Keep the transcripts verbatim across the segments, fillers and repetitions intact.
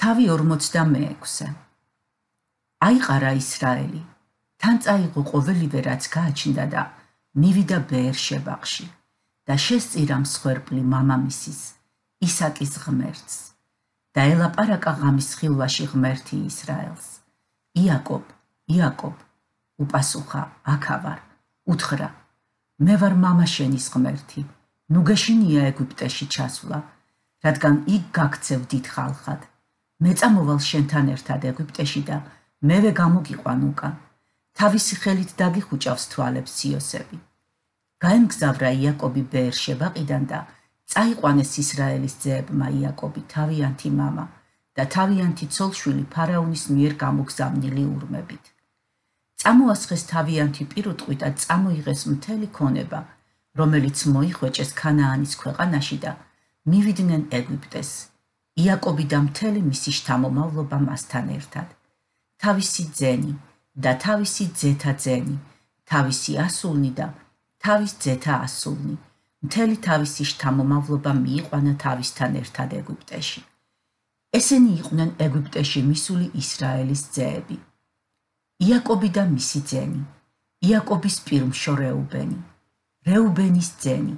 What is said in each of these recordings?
თავი ორმოცდამეექვსე. აიყარა ისრაელი, თან წაიღო ყოველივე რაც გააჩნდა და მივიდა ბეერ-შებაში და შესწირა მსხვერპლი მამამისის, ისაკის ღმერთს და ელაპარაკა ღამის ხილვაში ღმერთი ისრაელს. იაკობ, იაკობ, უპასუხა, აქა ვარ, უთხრა, მე ვარ მამა შენის ღმერთი, ნუ გეშინია ეგვიპტეში ჩასვლა, რადგან იქ გაქცევ დიდ ხალხად. მე წამოვალ შენთან ერთად ეგვიპტეში და მევე გამოგიყვან უკან. თავისი ხელით დაგიხუჭავს თვალებს იოსები. გაემგზავრა იაკობი ბეერ-შებაყიდან და წაიყვანეს ისრაელის ძეებმა იაკობი თავიანთი მამა და თავიანთი ცოლშვილი ფარაონის მიერ გამოგზავნილი ურმებით. წამოასხეს თავიანთი პირუტყვი და წამოიღეს მთელი ქონება, რომელიც მოიხვეჭეს ქანაანის ქვეყანაში და მივიდნენ ეგვიპტეს. იაკობი და მთელი მისი შთამომავლობა მასთან ერთად. თავისი ძენი და თავისი ძეთა ძენი, თავისი ასულნი და თავის ძეთა ასულნი, მთელი თავისი შთამომავლობა მიიყვანა თავისთან ერთად ეგვიპტეში. ესენი იყვნენ ეგვიპტეში მისული ისრაელის ძეები. იაკობი და მისი ძენი, იაკობის პირმშო რეუბენი, რეუბენის ძენი,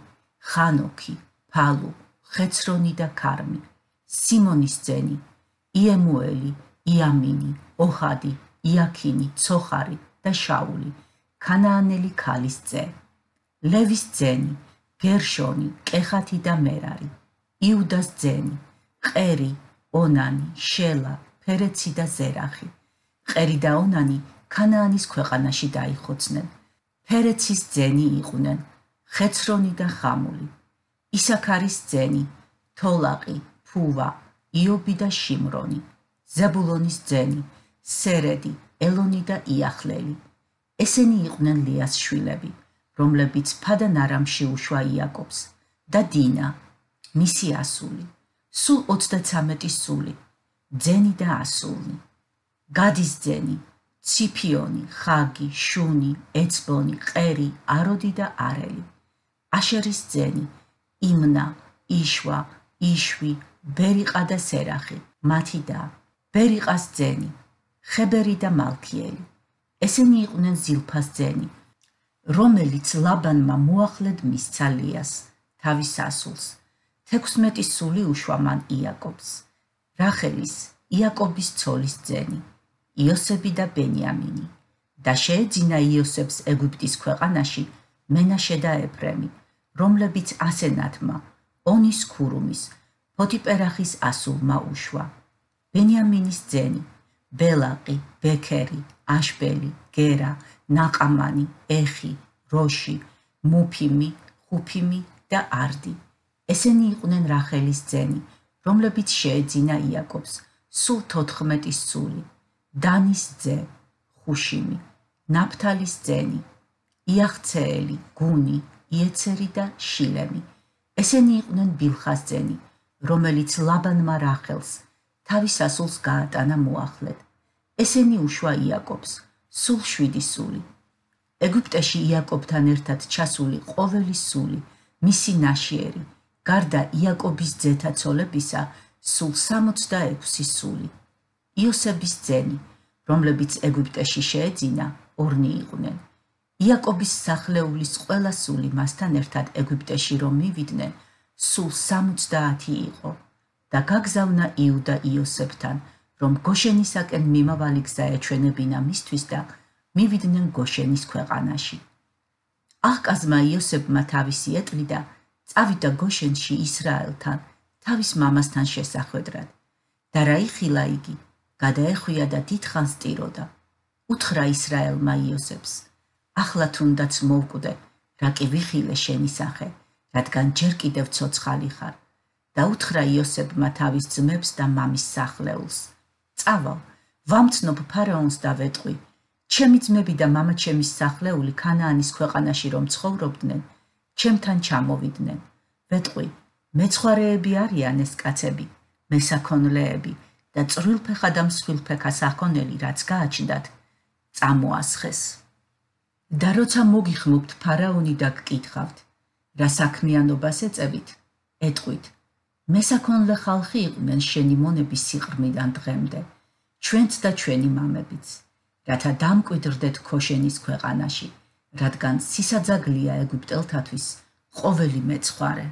ხანოქი, ფალუ, ხეცრონი და ქარმი, სიმონის ძენი, იემუელი, იამინი, ოჰადი, იაქინი, ცოხარი და შაული, ქანაანელი ქალის ძე. ლევის ძენი, გერშონი, კეხათი და მერარი, იუდას ძენი, ყერი, ონანი, შელა, ფერეცი და ზერახი. ყერი და ონანი ქანაანის ქვეყანაში დაიხოცნენ. ფერეცის ძენი იყვნენ ხეცრონი და ხამული. ისაქარის ძენი, თოლაყი, ფუვა, იობი და შიმრონი. ზებულონის ძენი, სერედი, ელონი და იახლელი. ესენი იყვნენ ლიას შვილები, რომლებიც ფადან არამში უშვა იაკობს და დინა, მისი ასული, სულ ოცდაცამეტი სული, ძენი და ასულნი. გადის ძენი, ციფიონი, ხაგი, შუნი, ეცბონი, ყერი, აროდი და არელი. აშერის ძენი, იმნა, იშვა, იშვი, ბერიყა და სერახი, მათი და ბერიყას ძენი, ხებერი და მალქიელი. ესენი იყვნენ ზილფას ძენი, რომელიც ლაბანმა მოახლედ მისცა ლიას, თავის ასულს. თექვსმეტი სული უშვა მან იაკობს. რახელის, იაკობის ცოლის ძენი, იოსები და ბენიამინი. და შეეძინა იოსებს ეგვიპტის ქვეყანაში მენაშე და ეფრემი, რომლებიც ასენათმა, ონის ქურუმის, ფოთიპერახის ასულმა უშვა. ბენიამინის ძენი, ბელაყი, ბექერი, აშბელი, გერა, ნაყამანი, ეხი, როში, მუფიმი, ხუფიმი და არდი. ესენი იყვნენ რახელის ძენი, რომლებიც შეეძინა იაკობს, სულ თოთხმეტი სული. დანის ძე, ხუშიმი, ნაფთალის ძენი, იახცეელი, გუნი, იეცერი და შილემი. ესენი იყვნენ ბილხას ძენი, რომელიც ლაბანმა რახელს, თავის ასულს გაატანა მოახლედ. ესენი უშვა იაკობს, სულ შვიდი სული. ეგვიპტეში იაკობთან ერთად ჩასული ყოველი სული, მისი ნაშიერი, გარდა იაკობის ძეთა ცოლებისა, სულ სამოცდაექვსი სული. იოსების ძენი, რომლებიც ეგვიპტეში შეეძინა, ორნი იყვნენ. იაკობის სახლეულის ყველა სული მასთან ერთად ეგვიპტეში რომ მივიდნენ, სულ სამოცდაათი იყო და გაგზავნა იუდა იოსებთან, რომ გოშენისაკენ მიმავალი გზა ეჩვენებინა მისთვის და მივიდნენ გოშენის ქვეყანაში. აჰკაზმა იოსებმა თავისი ეტლი და წავიდა გოშენში ისრაელთან, თავის მამასთან შესახვედრად. და რა იხილა იგი, გადაეხვია და დიდხანს ტიროდა. უთხრა ისრაელმა იოსებს, ახლა თუნდაც მოვკვდე, რა კი ვიხილე შენი სახე, რადგან ჯერ კიდევ ცოცხალი ხარ. და უთხრა იოსებმა თავის ძმებს და მამის სახლეულს, წავალ, ვამცნობ ფარაონს და ვეტყვი, ჩემი ძმები და მამაჩემის სახლეული ქანაანის ქვეყანაში რომ ცხოვრობდნენ, ჩემთან ჩამოვიდნენ. ვეტყვი, მეცხვარეები არიან ეს კაცები, მესაქონლეები და წვრილფეხა და მსხვილფეხა საქონელი, რაც გააჩნდათ, წამოასხეს. და როცა მოგიხმობთ ფარაონი და გკითხავთ, რა საქმიანობას ეწევით, ეტყვით, მესაქონლე ხალხი იყვნენ შენი მონების სიყრმიდან დღემდე, ჩვენც და ჩვენი მამებიც, რათა დამკვიდრდეთ ქოშენის ქვეყანაში, რადგან სისაძაგლია ეგვიპტელთათვის ყოველი მეცხვარე.